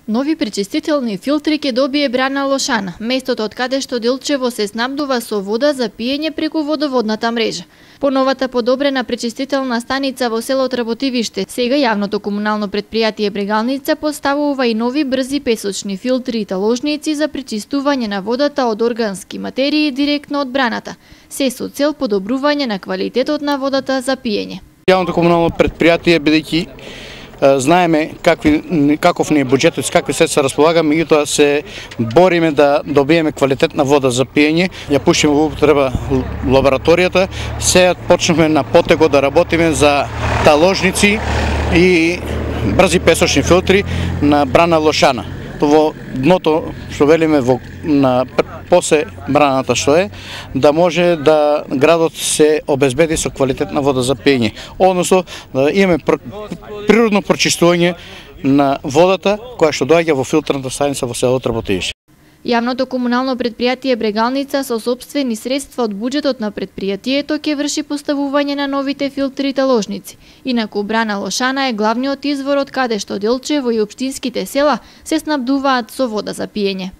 Нови пречистителни филтри ќе добие Брана Лошана, местото од каде што Делчево се снабдува со вода за пиење преку водоводната мрежа. По новата подобрена пречистителна станица во село Работивиште, сега јавното комунално предпријатие Брегалница поставува и нови брзи песочни филтри и таложници за пречистување на водата од органски материи директно од браната, се со цел подобрување на квалитетот на водата за пиење. Јавното комунално предпријатие, бидејќи знаеме каков ни е буџетот, с какви средства располагаме, меѓутоа се бориме да добиеме квалитетна вода за пиење. Ја пуштиме во употреба лабораторијата. Сега почнавме на потего да работиме за таложници и брзи песочни филтри на Брана Лошана. Во дното, што велиме, на после браната што е, да може да градот се обезбеди со квалитетна вода за пиење. Односно, да имаме природно прочистување на водата која што доаѓа во филтрната станица во село Работивиште. Јавното комунално предпријатие Брегалница со сопствени средства од буџетот на предпријатието ќе врши поставување на новите филтри и таложници. Инаку Брана Лошана е главниот извор од каде што Делчево и општинските села се снабдуваат со вода за пиење.